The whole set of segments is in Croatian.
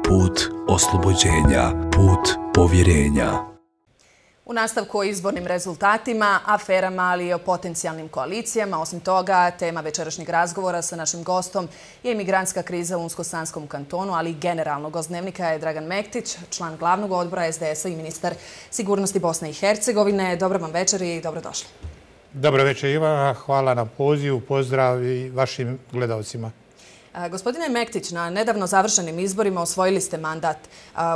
put oslobođenja, put povjerenja. U nastavku o izbornim rezultatima, aferama, ali i o potencijalnim koalicijama. Osim toga, tema večerašnjeg razgovora sa našim gostom je imigrantska kriza u Unsko-Sanskom kantonu, ali i generalno. Gost Dnevnika je Dragan Mektić, član glavnog odbora SDS-a i ministar sigurnosti Bosne i Hercegovine. Dobro vam večer i dobrodošli. Dobro večer Ivana, hvala na pozivu, pozdrav i vašim gledalcima. Gospodine Mektić, na nedavno završenim izborima osvojili ste mandat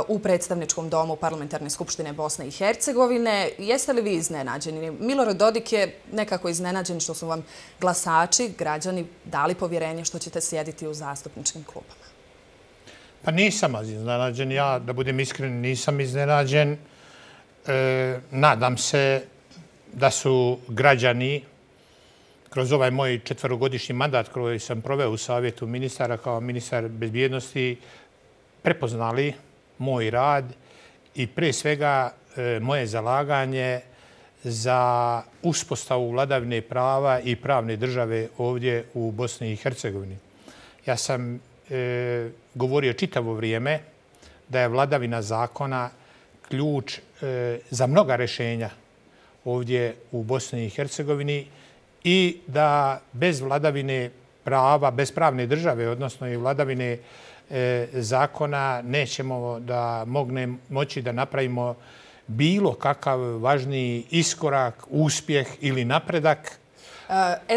u predstavničkom domu Parlamentarne skupštine Bosne i Hercegovine. Jeste li vi iznenađeni? Milorad Dodik je nekako iznenađen što su vam glasači, građani, dali povjerenje što ćete sjediti u zastupničkim klupama. Pa nisam iznenađen, ja da budem iskren nisam iznenađen. Nadam se da su građani kroz ovaj moj 4-godišnji mandat koji sam proveo u Savjetu ministara kao ministar bezbjednosti prepoznali moj rad i prije svega moje zalaganje za uspostavu vladavine prava i pravne države ovdje u Bosni i Hercegovini. Ja sam govorio čitavo vrijeme da je vladavina zakona ključ za mnoga rješenja ovdje u Bosni i Hercegovini i da bez vladavine prava, bez pravne države, odnosno i vladavine zakona, nećemo da moći da napravimo bilo kakav važniji iskorak, uspjeh ili napredak.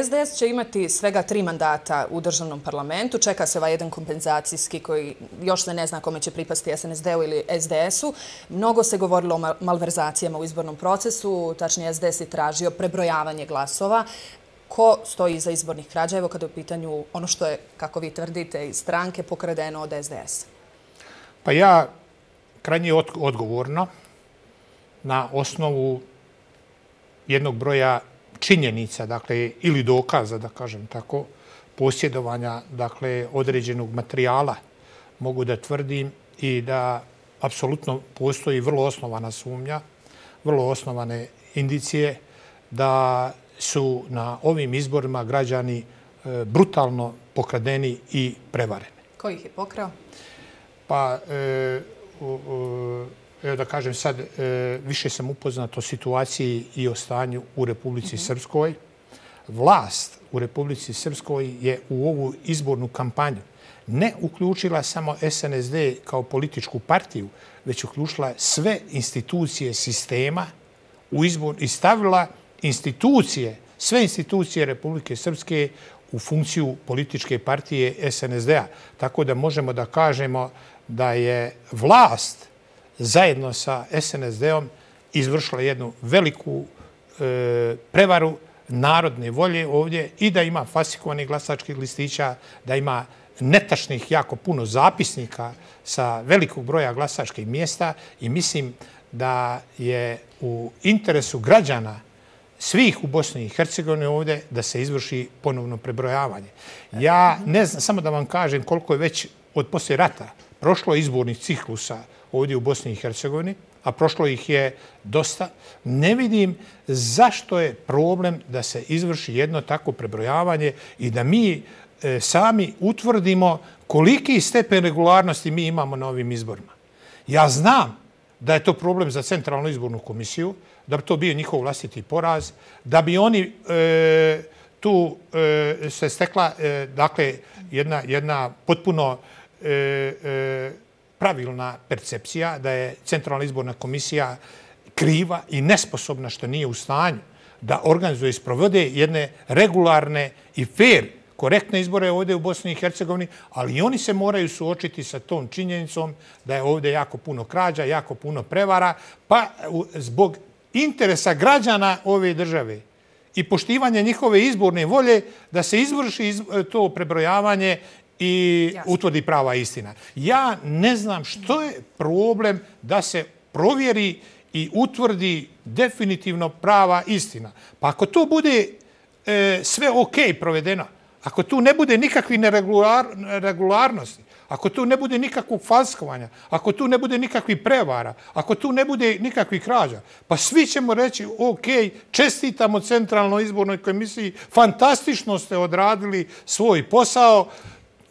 SDS će imati svega 3 mandata u državnom parlamentu. Čeka se ovaj jedan kompenzacijski koji još se ne zna kome će pripasti SNSD-u ili SDS-u. Mnogo se govorilo o malverzacijama u izbornom procesu, tačnije SDS je tražio prebrojavanje glasova. Ko stoji iza izbornih krađa, evo kada je u pitanju ono što je, kako vi tvrdite, iz stranke pokradeno od SDS-a? Pa ja krajnje odgovorno na osnovu jednog broja činjenica, dakle, ili dokaza, da kažem tako, posjedovanja, dakle, određenog materijala, mogu da tvrdim i da apsolutno postoji vrlo osnovana sumnja, vrlo osnovane indicije da su na ovim izborima građani brutalno pokradeni i prevareni. Ko ih je pokrao? Pa, evo da kažem sad, više sam upoznat o situaciji i o stanju u Republici Srpskoj. Vlast u Republici Srpskoj je u ovu izbornu kampanju ne uključila samo SNSD kao političku partiju, već uključila sve institucije sistema u izbor i stavila sve institucije Republike Srpske u funkciju političke partije SNSD-a. Tako da možemo da kažemo da je vlast zajedno sa SNSD-om izvršila jednu veliku prevaru narodne volje ovdje i da ima falsifikovanih glasačkih listića, da ima netačnih jako puno zapisnika sa velikog broja glasačkih mjesta i mislim da je u interesu građana svih u Bosni i Hercegovini ovdje da se izvrši ponovno prebrojavanje. Ja ne znam, samo da vam kažem koliko je već od poslije rata prošlo izbornih ciklusa ovdje u Bosni i Hercegovini, a prošlo ih je dosta. Ne vidim zašto je problem da se izvrši jedno takvo prebrojavanje i da mi sami utvrdimo koliki stepen regularnosti mi imamo na ovim izborima. Ja znam da je to problem za Centralnu izbornu komisiju, da bi to bio njihov vlastiti poraz, da bi oni tu se stekla dakle, jedna potpuno pravilna percepcija da je Centralna izborna komisija kriva i nesposobna što nije u stanju da organizuje i sprovode jedne regularne i fair, korektne izbore ovdje u Bosni i Hercegovini, ali i oni se moraju suočiti sa tom činjenicom da je ovdje jako puno krađa, jako puno prevara, pa zbog interesa građana ove države i poštivanja njihove izborne volje da se izvrši to prebrojavanje i utvrdi prava istina. Ja ne znam što je problem da se provjeri i utvrdi definitivno prava istina. Pa ako to bude sve ok provedeno, ako tu ne bude nikakvih neregularnosti, ako tu ne bude nikakvog falsikovanja, ako tu ne bude nikakvih prevara, ako tu ne bude nikakvih krađa, pa svi ćemo reći ok, čestitamo Centralnoj izbornoj komisiji, fantastično ste odradili svoj posao,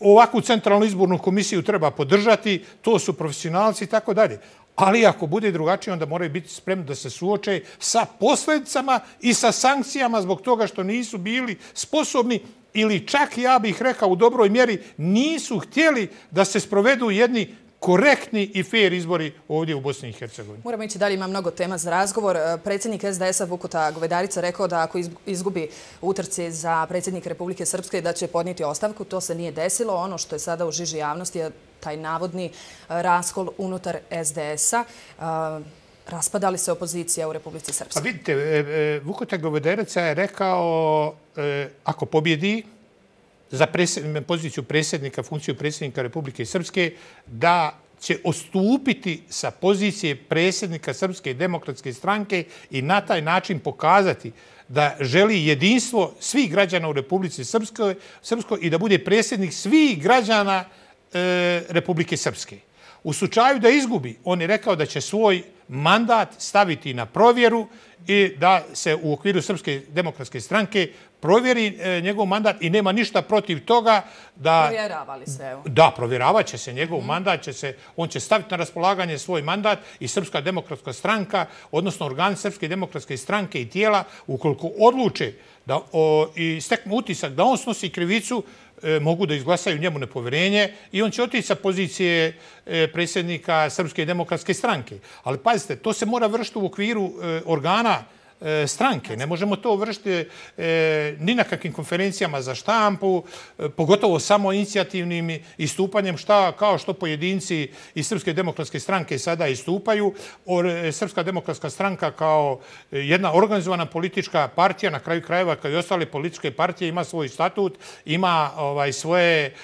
ovakvu centralnu izbornu komisiju treba podržati, to su profesionalci i tako dalje. Ali ako bude drugačije, onda moraju biti spremni da se suoče sa posljedicama i sa sankcijama zbog toga što nisu bili sposobni ili čak, ja bih rekao, u dobroj mjeri nisu htjeli da se sprovedu jedni korektni i fair izbori ovdje u Bosni i Hercegovini. Moramo ići dalje, ima mnogo tema za razgovor. Predsjednik SDS-a Vukuta Govedarica rekao da ako izgubi utrci za predsjednik Republike Srpske da će podnijeti ostavku. To se nije desilo. Ono što je sada u žiži javnosti je taj navodni raskol unutar SDS-a. Raspada li se opozicija u Republici Srpskoj? Pa vidite, Vukuta Govedarica je rekao ako pobjedi za poziciju predsjednika, funkciju predsjednika Republike Srpske, da će odstupiti sa pozicije predsjednika Srpske demokratske stranke i na taj način pokazati da želi jedinstvo svih građana u Republici Srpskoj i da bude predsjednik svih građana Republike Srpske. U slučaju da izgubi, on je rekao da će svoj mandat staviti na provjeru i da se u okviru Srpske demokratske stranke provjeri njegov mandat i nema ništa protiv toga da... Provjeravali se, evo. Da, provjeravat će se njegov mandat, on će staviti na raspolaganje svoj mandat i Srpska demokratska stranka, odnosno organi Srpske demokratske stranke i tijela, ukoliko odluče i steknu utisak da on snosi krivicu, mogu da izglasaju njemu nepovjerenje i on će otići sa pozicije predsjednika Srpske demokratske stranke. Ali pazite, to se mora vršiti u okviru organa stranke. Ne možemo to vršiti ni na kakvim konferencijama za štampu, pogotovo samo inicijativnim istupanjem kao što pojedinci iz Srpske demokratske stranke sada istupaju. Srpska demokratska stranka kao jedna organizovana politička partija, na kraju krajeva kao i ostale političke partije, ima svoj statut, ima svoje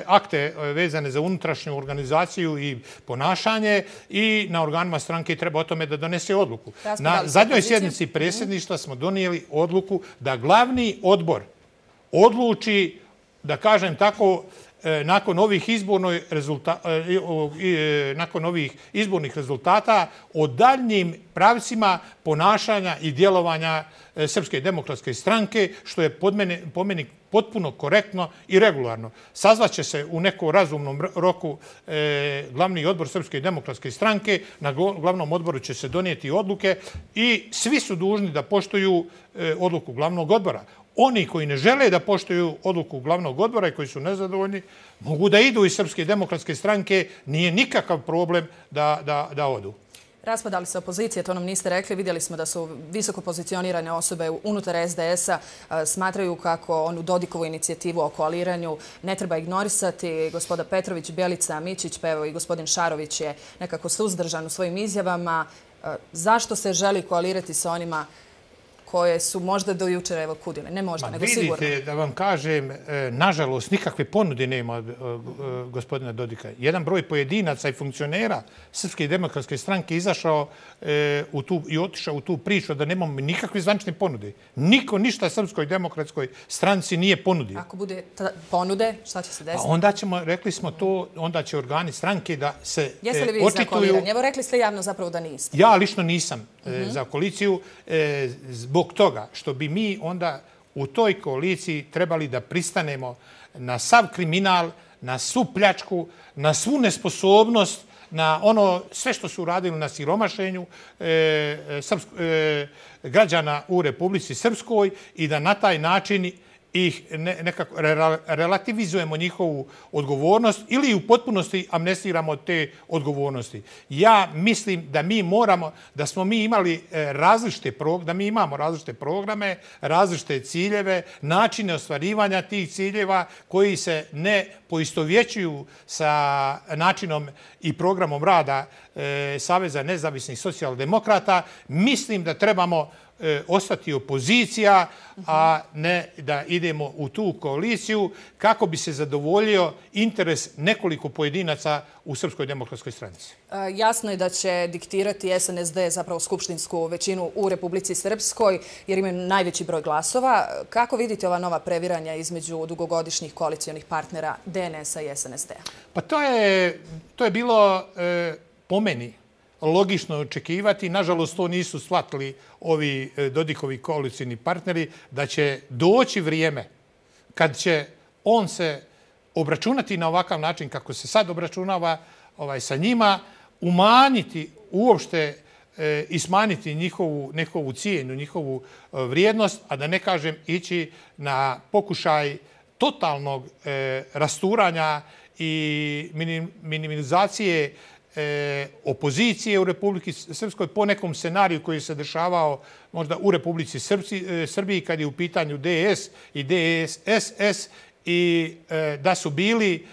akte vezane za unutrašnju organizaciju i ponašanje i na organima stranke treba o tome da donese odluku. Na zadnjoj sjednici predsjedništva smo donijeli odluku da glavni odbor odluči, da kažem tako, nakon ovih izbornih rezultata o daljnjim pravcima ponašanja i djelovanja Srpske demokratske stranke, što je po meni potpuno korektno i regularno. Sazvaće se u nekom razumnom roku glavni odbor Srpske demokratske stranke, na glavnom odboru će se donijeti odluke i svi su dužni da poštuju odluku glavnog odbora. Oni koji ne žele da poštuju odluku glavnog odbora i koji su nezadovoljni, mogu da idu iz Srpske demokratske stranke, nije nikakav problem da odu. Raspada li se opozicija, to nam niste rekli. Vidjeli smo da su visoko pozicionirane osobe unutar SDS-a, smatraju kako onu Dodikovu inicijativu o koaliranju ne treba ignorisati. Gospoda Petrović, Bjelica, Mićić, pa evo i gospodin Šarović je nekako suzdržan u svojim izjavama. Zašto se želi koalirati sa onima koje su možda do jučera evo kudile? Ne možda, nego sigurno. Vidite, da vam kažem, nažalost, nikakve ponude nema od gospodina Dodika. Jedan broj pojedinaca i funkcionera Srpske demokratske stranke izašao i otišao u tu priču da nemamo nikakve zvanične ponude. Niko ništa Srpskoj demokratskoj stranci nije ponudio. Ako bude ponude, šta će se desiti? Onda ćemo, rekli smo to, onda će organi stranke da se očituju. Jeste li vi za koaliranje? Evo, rekli ste javno zapravo da niste. Ja lično nisam za koaliciju zbog toga što bi mi onda u toj koaliciji trebali da pristanemo na sav kriminal, na svu pljačku, na svu nesposobnost, na ono sve što su uradili na siromašenju građana u Republici Srpskoj i da na taj način ih nekako relativizujemo njihovu odgovornost ili u potpunosti amnestiramo te odgovornosti. Ja mislim da mi moramo, da smo mi imali da mi imamo različite programe, različite ciljeve, načine ostvarivanja tih ciljeva koji se ne poistovjećuju sa načinom i programom rada Saveza nezavisnih socijaldemokrata. Mislim da trebamo ostati opozicija, a ne da idemo u tu koaliciju kako bi se zadovoljio interes nekoliko pojedinaca u Srpskoj demokratskoj stranci. Jasno je da će diktirati SNSD zapravo skupštinsku većinu u Republici Srpskoj jer imaju najveći broj glasova. Kako vidite ova nova previranja između dugogodišnjih koalicijonih partnera DNS-a i SNSD-a? Pa to je bilo po meni logično očekivati. Nažalost, to nisu shvatili ovi Dodikovi koalicijni partneri, da će doći vrijeme kad će on se obračunati na ovakav način kako se sad obračunava sa njima, umanjiti uopšte i smanjiti njihovu cijenu, njihovu vrijednost, a da ne kažem ići na pokušaj totalnog rasturanja i minimalizacije opozicije u Republiki Srpskoj po nekom scenariju koji se dešavao možda u Republici Srbiji kad je u pitanju DS i DSS i da su bili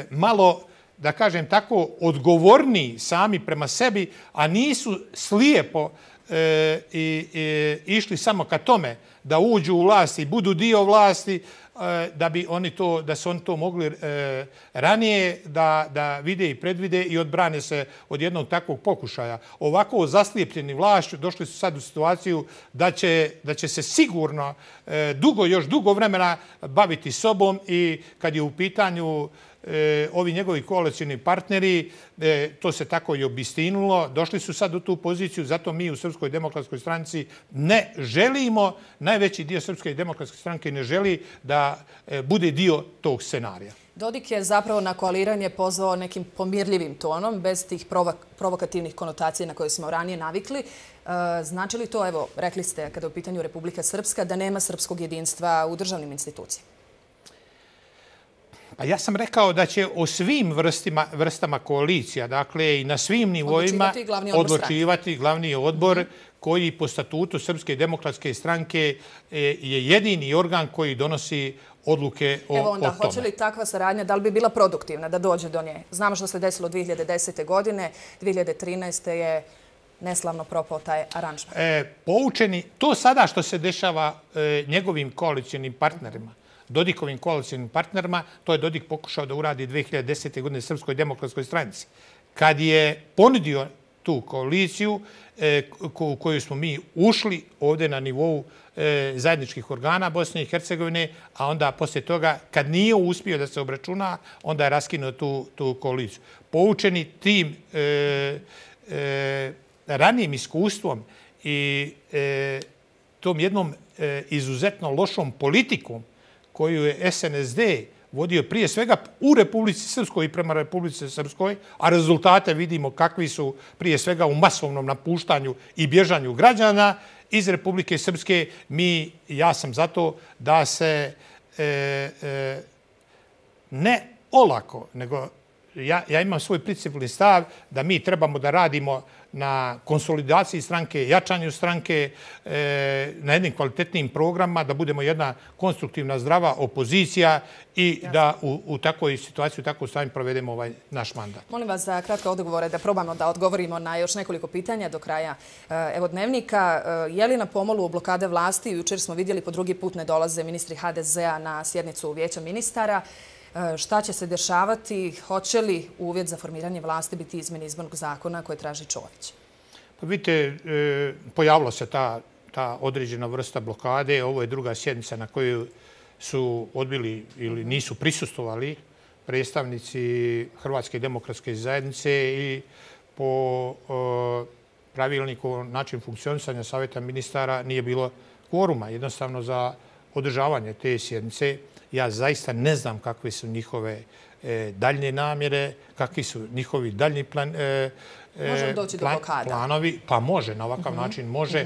malo, da kažem tako, odgovorniji sami prema sebi, a nisu slijepo išli samo ka tome da uđu u vlast i budu dio vlasti, da su oni to mogli ranije da vide i predvide i odbrane se od jednog takvog pokušaja. Ovako zaslijepljeni vlašću došli su sad u situaciju da će se sigurno još dugo vremena baviti sobom i kad je u pitanju ovi njegovi koalicijni partneri, to se tako i obistinilo, došli su sad u tu poziciju, zato mi u Srpskoj demokratskoj stranci ne želimo, najveći dio Srpske demokratske stranke ne želi da bude dio tog scenarija. Dodik je zapravo na koaliranje pozvao nekim pomirljivim tonom, bez tih provokativnih konotacija na koje smo ranije navikli. Znači li to, evo, rekli ste kada je u pitanju Republika Srpska, da nema srpskog jedinstva u državnim institucijama? Pa ja sam rekao da će o svim vrstama koalicija, dakle i na svim nivoima odlučivati glavni odbor koji po statutu Srpske demokratske stranke je jedini organ koji donosi odluke o tome. Evo onda, hoće li takva saradnja, da li bi bila produktivna da dođe do nje? Znamo što se desilo 2010. godine, 2013. je neslavno propao taj aranžman. Poučeni, to sada što se dešava njegovim koalicijnim partnerima, Dodikovim koalicijnim partnerima, to je Dodik pokušao da uradi 2010. godine Srpskoj demokratskoj stranici. Kad je ponudio tu koaliciju u koju smo mi ušli ovdje na nivou zajedničkih organa Bosne i Hercegovine, a onda poslije toga, kad nije uspio da se obračuna, onda je raskinuo tu koaliciju. Poučeni tim ranijim iskustvom i tom jednom izuzetno lošom politikom koju je SNSD vodio prije svega u Republici Srpskoj i prema Republici Srpskoj, a rezultate vidimo kakvi su prije svega u masovnom napuštanju i bježanju građana iz Republike Srpske. Ja sam zato da se ne olako, nego ja imam svoj principalni stav da mi trebamo da radimo na konsolidaciji stranke, jačanju stranke, na jednim kvalitetnim programima, da budemo jedna konstruktivna, zdrava opozicija i da u takvoj situaciji, u takvom stanju provedemo ovaj naš mandat. Molim vas za kratke odgovore, da probamo da odgovorimo na još nekoliko pitanja do kraja evo dnevnika. Je li na pomolu blokade vlasti? Jučer smo vidjeli po drugi put ne dolaze ministri HDZ-a na sjednicu Vijeća ministara. Šta će se dešavati? Hoće li uvjet za formiranje vlasti biti izmjene izbornog zakona koje traži Čović? Pa vidite, pojavila se ta određena vrsta blokade. Ovo je druga sjednica na kojoj su odbili ili nisu prisustvovali predstavnici Hrvatske demokratske zajednice i po pravilniku o načinu funkcionisanja Savjeta ministara nije bilo kvoruma jednostavno za održavanje te sjednice. Ja zaista ne znam kakve su njihove daljne namjere, kakvi su njihovi daljni planovi. Pa može, na ovakav način može.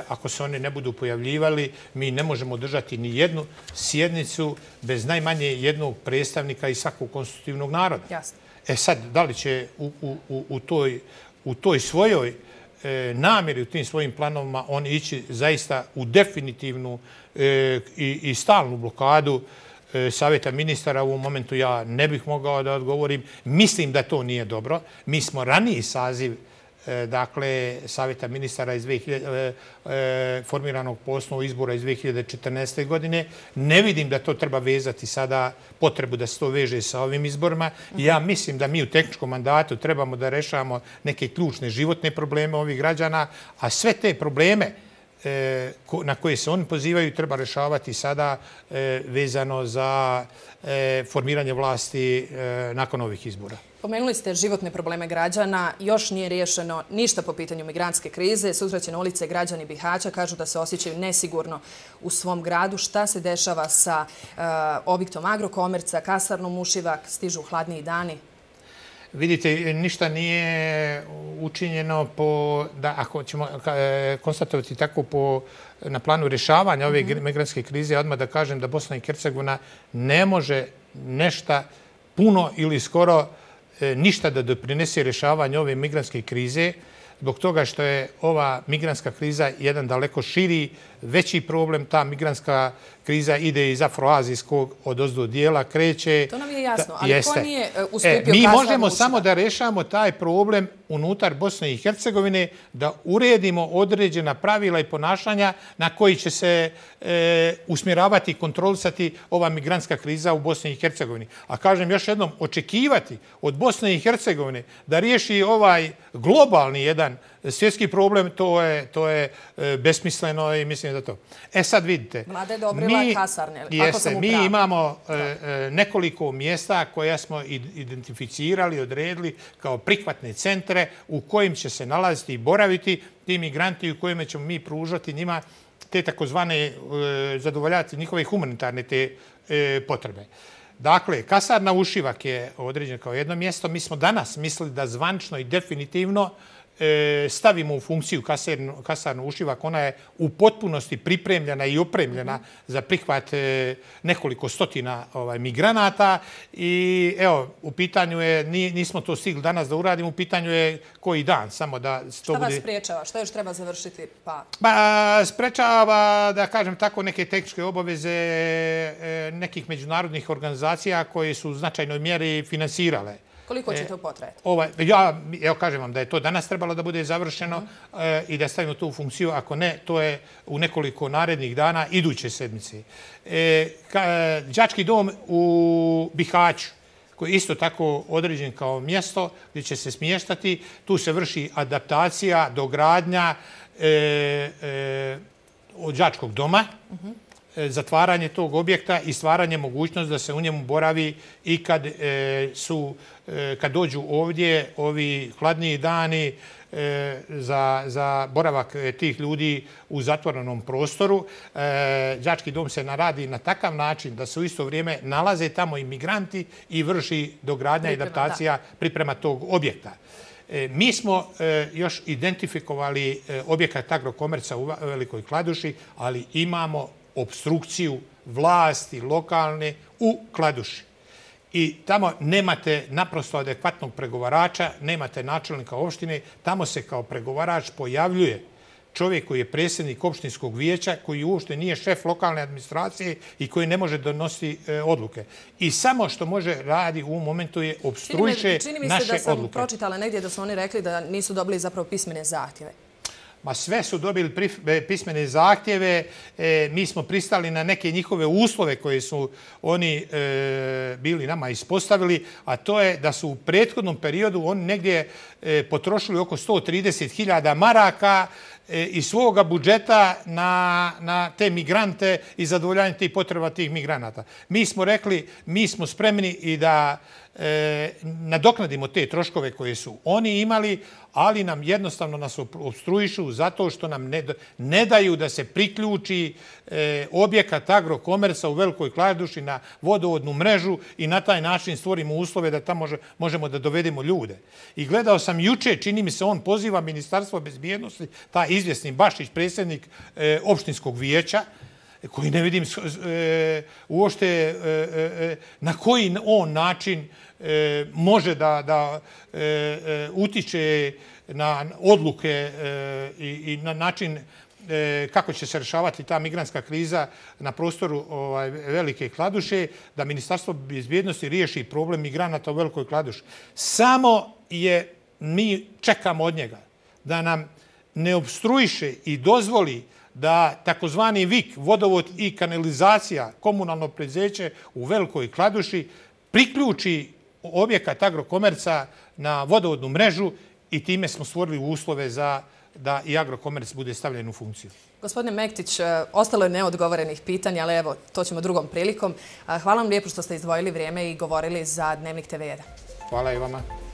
Ako se oni ne budu pojavljivali, mi ne možemo držati ni jednu sjednicu bez najmanje jednog predstavnika iz svakog konstitutivnog naroda. Jasno. Sad, da li će u toj svojoj namjeri, u tim svojim planovima on ići zaista u definitivnu i stalnu blokadu Savjeta ministara, u ovom momentu ja ne bih mogao da odgovorim. Mislim da to nije dobro. Mi smo raniji saziv dakle, Savjeta ministara formiranog po osnovu izbora iz 2014. godine. Ne vidim da to treba vezati sada potrebu da se to veže sa ovim izborima. Ja mislim da mi u tehničkom mandatu trebamo da rešavamo neke ključne životne probleme ovih građana, a sve te probleme na koje se oni pozivaju treba rješavati sada vezano za formiranje vlasti nakon ovih izbora. Pomenuli ste životne probleme građana. Još nije riješeno ništa po pitanju migrantske krize. Susreće na ulice građani Bihaća, kažu da se osjećaju nesigurno u svom gradu. Šta se dešava sa objektom Agrokomerca, kasarnom Ušivak, stižu hladniji dani? Vidite, ništa nije učinjeno ako ćemo konstatovati tako na planu rješavanja ove migrantske krize, odmah da kažem da Bosna i Hercegovina ne može nešto puno ili skoro ništa da doprinese rješavanju ove migrantske krize, zbog toga što je ova migrantska kriza jedan daleko širi, veći problem. Ta migrantska kriza ide iz afroazijskog odozdo dijela, kreće. To nam je jasno, ali ko nije ustupio mi možemo samo da rješamo taj problem unutar Bosne i Hercegovine, da uredimo određena pravila i ponašanja na koji će se usmjeravati i kontrolisati ova migrantska kriza u Bosni i Hercegovini. A kažem još jednom, očekivati od Bosne i Hercegovine da riješi ovaj globalni jedan svjetski problem, to je besmisleno i mislim da to. Sad vidite. Vlada je odobrila kasarne. Mi imamo nekoliko mjesta koja smo identificirali, odredili kao prihvatne centre u kojim će se nalaziti i boraviti ti migranti, u kojima ćemo mi pružati njima te takozvane, zadovoljavati njihove humanitarne te potrebe. Dakle, kasarna Ušivak je određena kao jedno mjesto. Mi smo danas mislili da zvančno i definitivno stavimo u funkciju kasarnu Ušivak. Ona je u potpunosti pripremljena i opremljena za prihvat nekoliko stotina migranata i evo, u pitanju je, nismo to stigli danas da uradimo, u pitanju je koji dan, samo da to bude... Šta vas spriječava? Šta još treba završiti? Sprečava, da kažem tako, neke tehničke obaveze nekih međunarodnih organizacija koje su u značajnoj mjeri finansirale. Koliko će to potrajati? Ja kažem vam da je to danas trebalo da bude završeno i da stavimo to u funkciju. Ako ne, to je u nekoliko narednih dana iduće sedmice. Đački dom u Bihaću, koji je isto tako određen kao mjesto gdje će se smještati. Tu se vrši adaptacija, dogradnja đačkog doma, zatvaranje tog objekta i stvaranje mogućnost da se u njemu boravi i kad dođu ovdje ovi hladniji dani za boravak tih ljudi u zatvorenom prostoru. Đački dom se radi na takav način da se u isto vrijeme nalaze tamo i migranti i vrši dogradnja i adaptacija priprema tog objekta. Mi smo još identifikovali objekat Agrokomerca u Velikoj Kladuši, ali imamo opstrukciju vlasti lokalne u Kladuši. I tamo nemate naprosto adekvatnog pregovarača, nemate načelnika opštine, tamo se kao pregovarač pojavljuje čovjek koji je predsjednik opštinskog vijeća, koji uopšte nije šef lokalne administracije i koji ne može donositi odluke. I samo što može radi u ovom momentu je opstruiše naše odluke. Čini mi se da sam pročitala negdje da su oni rekli da nisu dobili zapravo pismene zahtjeve. Ma sve su dobili pismene zahtjeve, mi smo pristali na neke njihove uslove koje su oni bili nama ispostavili, a to je da su u prethodnom periodu oni negdje potrošili oko 130.000 maraka iz svoga budžeta na te migrante i zadovoljanje tih potreba tih migranata. Mi smo rekli, mi smo spremni i da nadoknadimo te troškove koje su oni imali, ali nam jednostavno nas opstruišu zato što nam ne daju da se priključi objekat Agrokomerca u Velikoj Kladuši na vodovodnu mrežu i na taj način stvorimo uslove da tamo možemo da dovedemo ljude. I gledao sam juče, čini mi se, on poziva Ministarstvo bezbjednosti, taj izvjesni Bašić, predsjednik opštinskog vijeća, koji ne vidim uopšte na koji on način može da utiče na odluke i na način kako će se rješavati ta migrantska kriza na prostoru Velike Kladuše, da Ministarstvo bezbjednosti riješi problem migranata u Velikoj Kladuši. Samo mi čekamo od njega da nam ne opstruiše i dozvoli da takozvani VIK, vodovod i kanalizacija, komunalno preduzeće u Velikoj Kladuši, priključi objekat Agrokomerca na vodovodnu mrežu i time smo stvorili uslove da i Agrokomerc bude stavljen u funkciju. Gospodine Mektić, ostalo je neodgovorenih pitanja, ali evo, to ćemo drugom prilikom. Hvala vam lijepo što ste izdvojili vrijeme i govorili za Dnevnik TV1. Hvala i vama.